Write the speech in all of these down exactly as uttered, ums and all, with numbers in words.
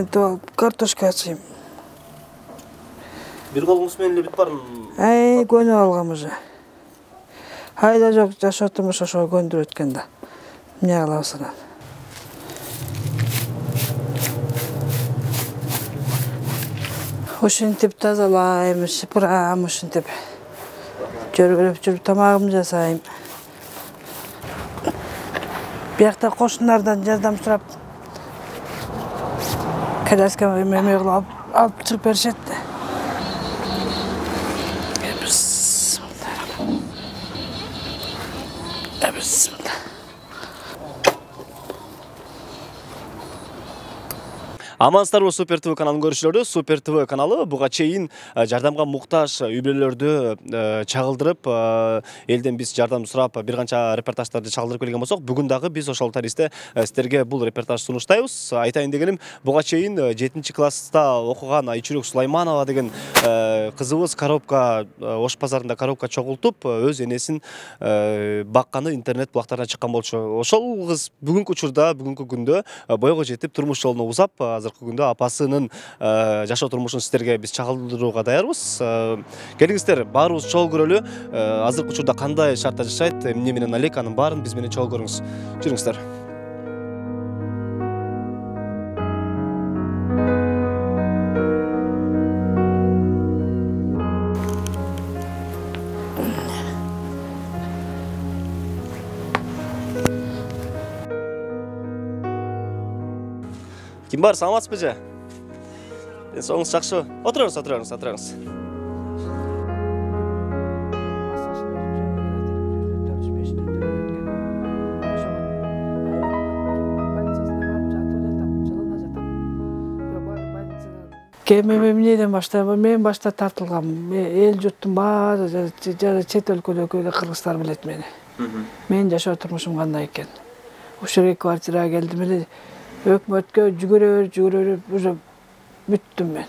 Мен то картошка ачайм. Бир колуңуз менен эле бүт барын. Ай, көнүп алгам уже. Айда жок, жашоо турмуш ошого көндүрүп өткөн да. Эмне кылабыз анан? Ушинтип тазалайм, сыпырам, ушинтип. Жүрүп жүрүп тамагымды жасайм. Биякта кошундардан жардам сурап коляска эме кылып алып чыгып беришет. Амансыздарбы Супер ТВ каналын көрүүчүлөрү. Супер ТВ каналы буга чейин жардамга муктаж үй бүлөлөрдү чагылдырып, элден биз жардам сурап бир канча репортаждарды чагылдырып келген болсок, бүгүн дагы биз ошол таристе сиздерге бул репортаж сунуштайбыз. Айтайын дегеним, буга чейин жетинчи класста окуган Айчүрөк Сулайманова деген кызыбыз коробка Ош базарында коробка чогултуп, өз энесин бакканы интернет булактарына чыккан болчу. Ошол кыз бүгүнкү учурда, бүгүнкү күндө боюга жетип турмуш жолуна узап, азыркы күндө апасынын жашоо турмушун сиздерге биз чагылдырууга даярбыз. Келиңиздер, баарыбыз чогуу көрөлү. Азыркы учурда кандай шартта жашайт, эмне менен алек, анын баарын биз менен чогуу көрүңүз. Жүрүңүздөр. Ким бар, саламатсызбы же? Соңуңуз жакшыбы? Отуруңуз, отуруңуз, отуруңуз. Кеме эмнеден баштап, мен башта тартылгам. Эл журттун баары, жана чет өлкөдөгү кыргыздар билет мени. Менин жашоо турмушум кандай экен. Ушул квартирага келдим эле. Өкмөткө жүгүрө жүгүрө уже бүттүм мен.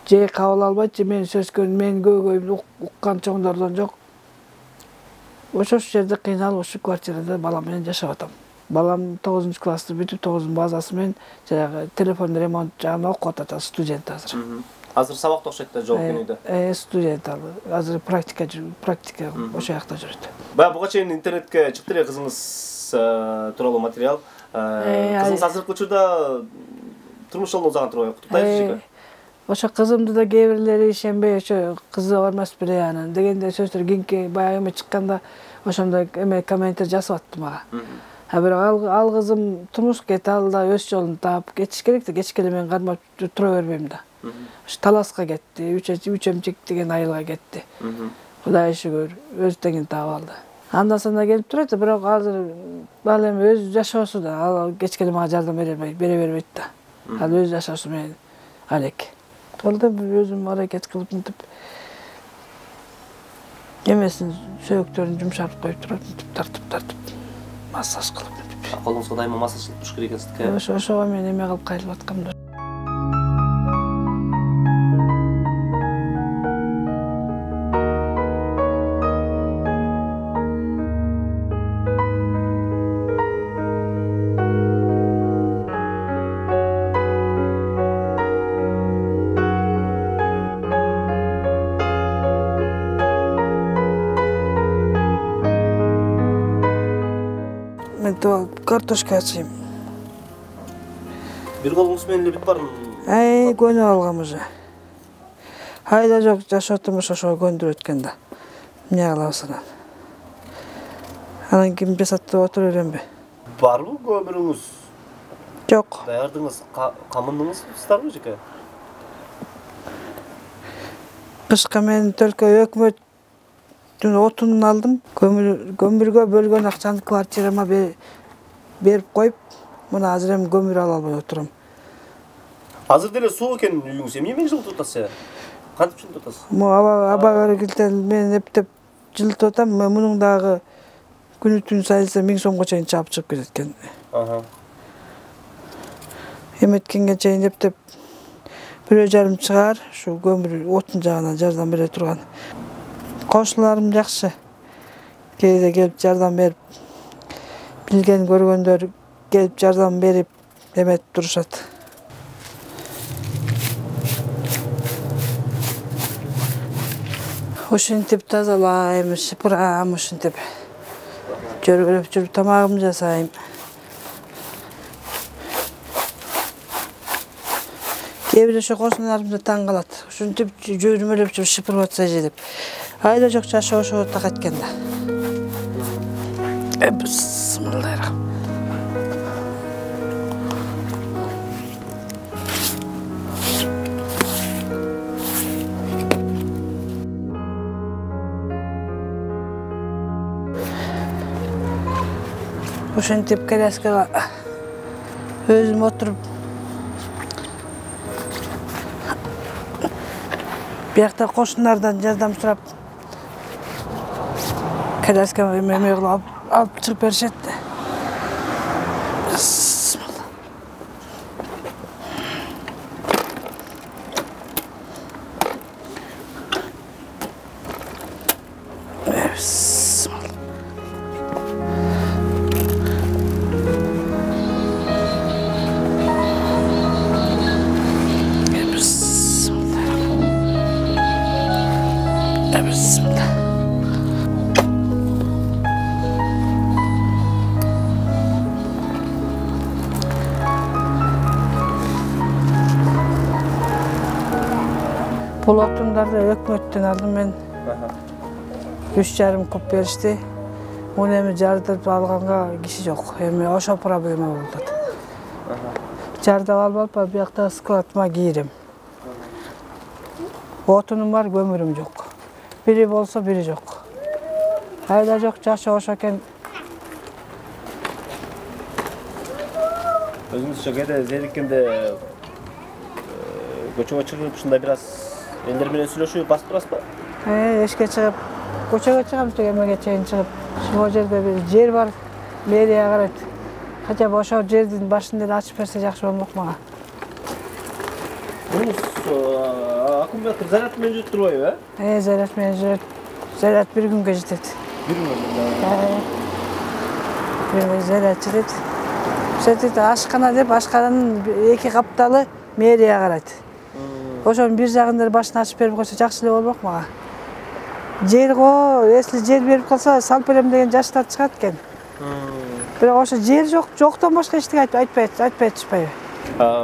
Же кабыл албайт, же мен сөзгөн, мен көйгөйүмдү уккан чоңдордон жок. Ошол жерде кыйналып, ушул квартирада балам менен жашап атам. Балам тогузунчу классты бүтүп, тогузунун базасы менен жанагы телефон ремонт жагына окуп атат, студент азыр. Азыр сабакта окшойт да, жооп күнүдө. Э, студент ал. Азыр практика практика ошол жакта жүрөт. Баягы буга чейин интернетке чыкты эле кызыңыз тууралуу материал. Кызыңыз азыркы учурда турмуш жолуна узаган турбайбы? Куттуктайбыз. Ошо кызымды да кээ бирлери ишенбей, ошо кызы бар эмес беле анан дегенде сөздөр кийинки баягы эме чыкканда ошондой эме комментер жасап атты мага. А бирок ал кызым турмуш кетти, ал да өз жолун таап кетиш керек да, кечке эле мен кармап тура бербейм да. Ошо Таласка кетти, үч эмчек деген айылга кетти. Кудайга шүгүр, өз теңин таап алды. Андан санда келип турат, бирок азыр ал эми өз жашоосу да, ал кечке эле мага жардам бере бере бербейт да. Ал өз жашоосу менен алек. Ал да өзүм аракет кылып мынтип эмесин сөөктөрүн жумшартып коюп турат, мынтип тартып тартып массаж кылып мынтип. Колуңузга дайыма массаж кылып туруш керек экенсизге. Ошо ошого мен эме кылып кайрылып аткам да. Мен то картошка ачайм. Бир колуңуз менен эле бүт барын. Ай, көнүп алгам уже. Айда жок, жашоо турмуш ошого көндүрүп өткөн да. Эмне кылабыз анан? Анан ким жасат деп отура беремби? Барбы көмүрүңүз? Жок. Даярдыңыз, камындыңыздарбы жеке? Кышка мен только өкмөт отун алдым. Көмүргө бөлгөн акчаны квартирама берип коюп, мына азыр эми көмүр ала албай отурам. Азыр деле суу экен үйүңүз. Эмне менен жылытып атасыз? Кантип жылытып атасыз? Мо аба аба келтен мен эптеп жылытып атам. Мунун дагы күнү түн сайылса миң сомго чейин чаап чыгып кетет экен. Аха. Эметкенге чейин эптеп бирөө жарым чыгар, ушу көмүр отун жагынан жардам бере турган. Кошуларым жакшы. Кээде келип жардам берип, билген көргөндөр келип жардам берип эметип турушат. Ушинтип тазалайм, шыпырам, ушинтип жөргөлөп жүрүп тамагымды жасайм. Кээ бир ошо кошуналарым да таң калат. Ушинтип жөрмөлөп жүрүп шыпырып атса же деп. Айда жок жашы ошо так эткенде. Бисмиллахиррахманиррахим. Ушинтип коляскага өзүм отуруп биякта кошундардан жардам сурап коляскага эме кылып алып чыгып беришет. Бул отундарды өкмөттөн алдым мен. үч жарым куб беришти. Муну эми жардырып алганга киши жок. Эми ошо проблема болду. Жардап алып алып биякта складыма кийирем. Отунум бар, көмүрүм жок. Бири болсо бири жок. Айда жок жашы ошо экен. Өзүңүзчө кээде зериккенде көчөгө чыгып ушундай бир аз элдер менен сүйлөшүп басып турасызбы? Э, эшикке чыгып, көчөгө чыгам, эмеге чейин чыгып, ушул жерде бир жер бар, мэрия карайт. Хотя бы ошол жердин башын эле ачып берсе жакшы болмок мага. Мунуз аккумулятор заряд менен жүрүп турбайбы, э? Э, заряд менен жүрөт. Заряд бир күнгө жетет. Бир күнгө? Э. Бир күнгө заряд жетет. Сөйтүп ашкана деп, ашкананын эки капталы мэрия карайт. Ошонун бир жагында башын ачып берип койсо жакшы эле болмок мага. Жер го, если жер берип калса, салып берем деген жаштар чыгат экен. Бирок ошо жер жок, жоктон башка эчтеке айтпайт, айтпай атышпайбы?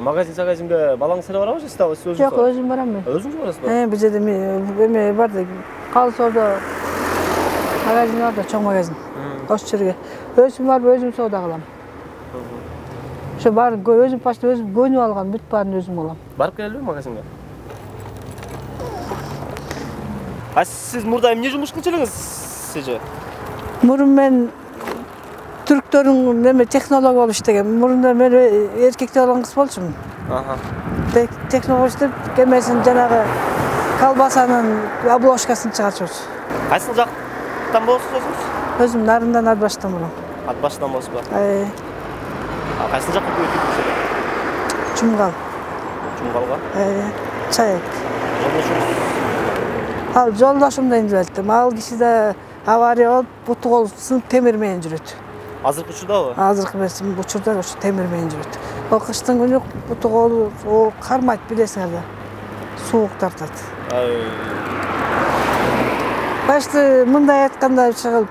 Магазин магазинге балаңыз эле барабы же сиз өзүңүз? Жок, өзүм барам мен. Өзүңүз барасызбы? Э, бул жерде эме бар да, Калсоодо магазин бар да, чоң магазин. Ошол жерге өзүм барып өзүм соода кылам. Ошо бар, өзүм почти өзүм көнүп алган, бүт баарын өзүм алам. Барып келелиби магазинге? А сиз мурда эмне жумуш кылчу элеңиз сиже? Мурун мен түрктөрдүн неме технолог болуп иштегем. Мурунда мен эркекте болгон кыз болчумун. Аха. Технолог иштеп, кемесин жанагы колбасанын обложкасын чыгарчубуз. Кайсы жактан болосуз өзүңүз? Өзүм Нарындан Атбаштан болом. Атбаштан болосузбу? Э. А кайсы жакка көчүп? Чумгал. Чумгалга? Э. Чайык. Жолдошуңуз? Ал жолдошум да индибеттим. Ал киши да авария болуп, буту кол сынып темир менен жүрөт. Азыркы учурдабы? Азыркы берсим учурда ошо темир менен жүрөт. Ал кыштын күнү буту колу кармайт, билесиңер да. Суук тартат. Башты мындай айтканда чыгып,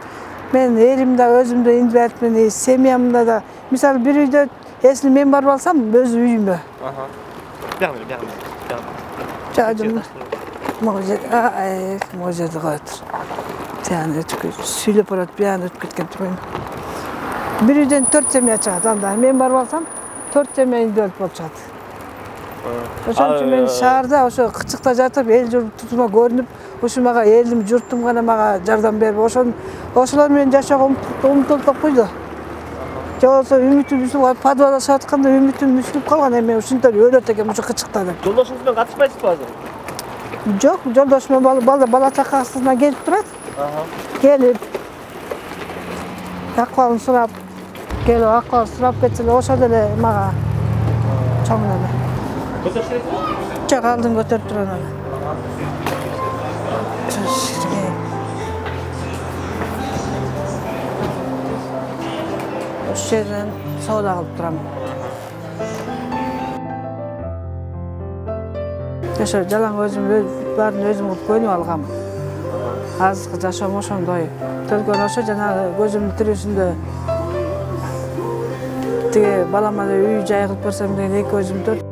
мен элим да өзүм да индибетмин, семьямда да. Мисалы бир үйдө если мен барып алсам, өз үйүмө. Аха. Бягы, бягы, бягы. Жадым. Могу жер, ай, могу жерде коет. Тияны өтүп, сүйлөп барат, бияны өтүп кеткен турган. Бир үйдөн төрт семья чыгат, анда мен барып алсам, төрт семья индибет болуп чыгат. Ошон үчүн мен шаарда ошо кычыкта жатып, эл журт тутума көрүнүп, ушу мага элим, журтум гана мага жардам берип, ошон ошолор менен жашоого умтултуп койду. Же болбосо үмүтүм үзүлүп, подвалда чыгып атканда үмүтүм үзүлүп калган, эми ушинтип өлөт экем ушу кычыкта деп. Жолдошуңуз менен катышпайсызбы азыр? Жок, жолдошум бала бала чакасына келип турат. Аха. Келип акыбалын сурап, келип акыбал сурап кетсе эле ошол деле мага чоң эле. Көтөрүп бересизби? Жок, алдын көтөрүп турган эле. Ошол жерден соода кылып турам. Ошо жалаң өзүм баарын өзүм кылып көнүп алгам. азыркы жашоом ошондой. Төлкөн ошо жанагы көзүмдүн тирүүсүндө тиги балама үй жай кылып берсем деген эки көзүм төрт.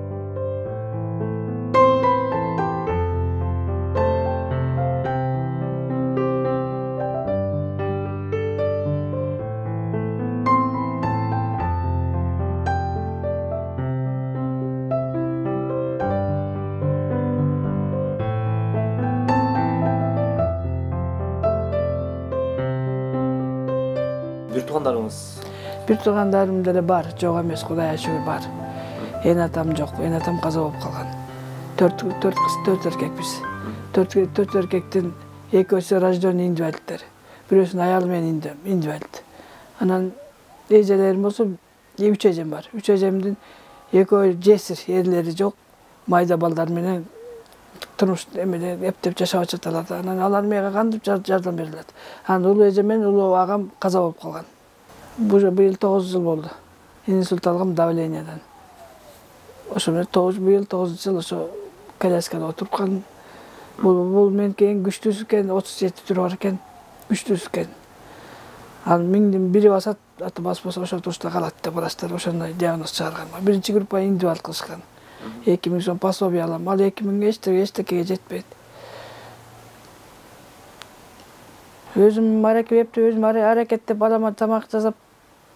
Бир туугандарыңыз? Бир туугандарым деле бар, жок эмес, Кудайга шүгүр бар. Эн атам жок, эн атам каза болуп калган. Төрт төрт кыз, төрт эркекпиз. Төрт төрт эркектин экөөсү рожденный инвалидтер. Бирөөсүнүн аялы менен инвалид. Анан эжелерим болсо үч эжем бар. Үч эжемдин экөө жесир, эрлери жок. Майда балдар менен турмуш эмеде эптеп жашап атышат. Анан алар мага кантип жардам бере алат? Анан улуу эжем менен улуу агам каза болуп калган. Быйыл тогуз жыл болду. Инсульт алгам давлениядан. Ошо менен тогуз быйыл тогуз жыл ошо коляскада отуруп калдым. Бул бул меники эң күчтүүсү экен, отуз жети түрү бар экен, күчтүүсү экен. Анын миңдин бири басат, аты баспаса ошол тушта калат деп врачтар ошондой диагноз чыгарган. Биринчи группа инвалид кылышкан. эки миң сом пособие алам. Ал эки миң эчтекеге жетпейт. Өзүм аракет өзүм аракеттеп балама тамак жасап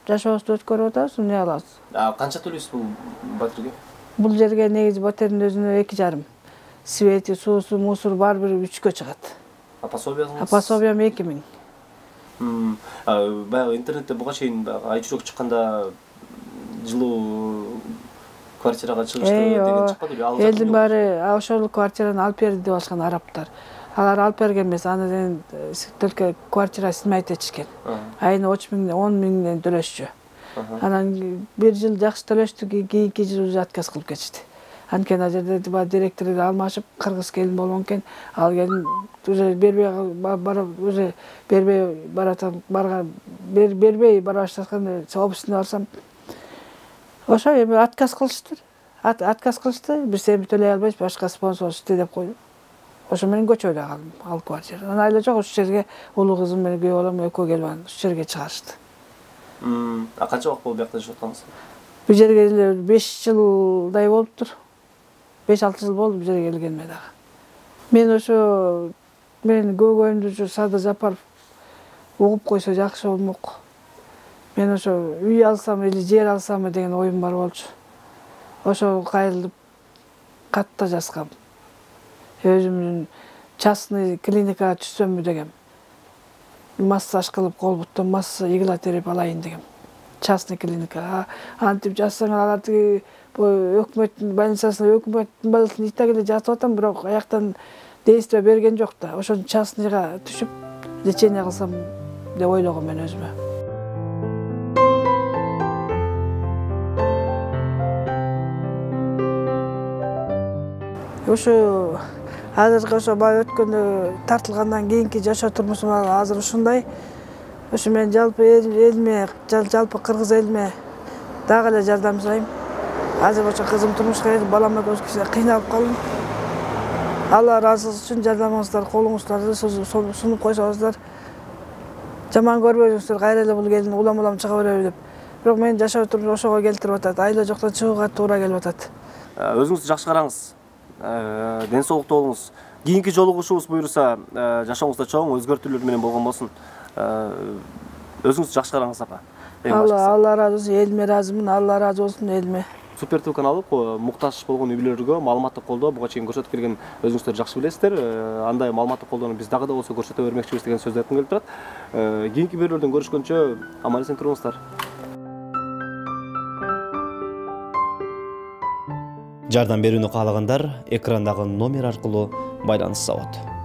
жашообузду өткөрүп атабыз, эмне алабыз? А канча төлөйсүз бул батирге? Бул жерге негизи батирдин өзүнө эки жарым. Свети, суусу, мусор бар бир үчкө чыгат. А пособияңыз? А пособиям эки миң. Баягы интернетте буга чейин ай чүрөк чыкканда жылуу квартирага чыгышты деген чыкпады беле? Элдин баары ошол квартираны алып берди деп алышкан арабтар. Алар алып берген эмес, анан только квартира снимать этишкен. Айына он миңден төлөшчү. Анан бир жыл жакшы төлөштү, кийинки жыл уже отказ кылып кетишти. Анткени ал жерде директорлор алмашып, кыргыз келин болгон экен, ал келин уже бербей уже бербей баратам, барган бербей бара баштатканда обысына барсам, ошо эми отказ кылышты. Отказ кылышты, биз эми төлөй албайбыз, башка спонсор иште деп койду. Ошо менен көчөдө калдым, ал квартира. Анан айла жок, ушул жерге улуу кызым менен күйөө балам экөө келип анан ушул жерге чыгарышты. А канча убакыт болду биякта жашап атканыңыз? Бул жерге эле беш жылдай болуптур. беш алты жыл болду бул жерге келгениме дагы. Мен ошо мен көйгөйүмдү ушу Садыр Жапаров угуп койсо жакшы болмок. Мен ошо үй алсам или жер алсамбы деген оюм бар болчу. Ошо кайрылып кат да жазгам. Өзүмдүн частный клиникага түшсөмбү дегем. Массаж кылып кол буттан масса иглотерапия алайын дегем. Частный клиника. Антип жазсаң алар тиги өкмөттүн больницасына өкмөттүн больницасына итак эле жатып атам, бирок аяктан действие берген жок да. Ошон частныйга түшүп лечение кылсам деп ойлогом мен өзүмө. Ошо азыркы ошо бая өткөндө тартылгандан кийинки жашоо турмушум азыр ушундай. Ошо мен жалпы элиме, жалпы кыргыз элиме дагы эле жардам сурайм. Азыр ошо кызым турмушка чыгып, балам экөөбүз кичине кыйналып калдым. Алла ыраазылык үчүн жардамыңыздар, колуңуздарды сунуп койсоңуздар. Жаман көрбөйсүңүздөр, кайра эле бул келин улам-улам чыга береби деп. Бирок мен жашоо турмуш ошого келтирип атат. Айла жоктон чыгууга туура келип атат. Өзүңүздү жакшы караңыз. Ден соолуктуу болуңуз. Кийинки жолугушуубуз буйруса, жашооңузда чоң өзгөртүүлөр менен болгон болсун. Өзүңүздү жакшы караңыз апа. Алла ыраазы болсун, элиме ыраазымын, Алла ыраазы болсун элиме. Супер ТВ каналы муктаж болгон үй бүлөлөргө маалыматтык колдоо буга чейин көрсөтүп келген өзүңүздөр жакшы билесиздер. Андай маалыматтык колдоону биз дагы да болсо көрсөтө бермекчибиз деген сөздү айткым келип турат. Кийинки берүүлөрдөн көрүшкөнчө аман эсен туруңуздар. Жардам берүүнү каалагандар экрандагы номер аркылуу байланышса болот.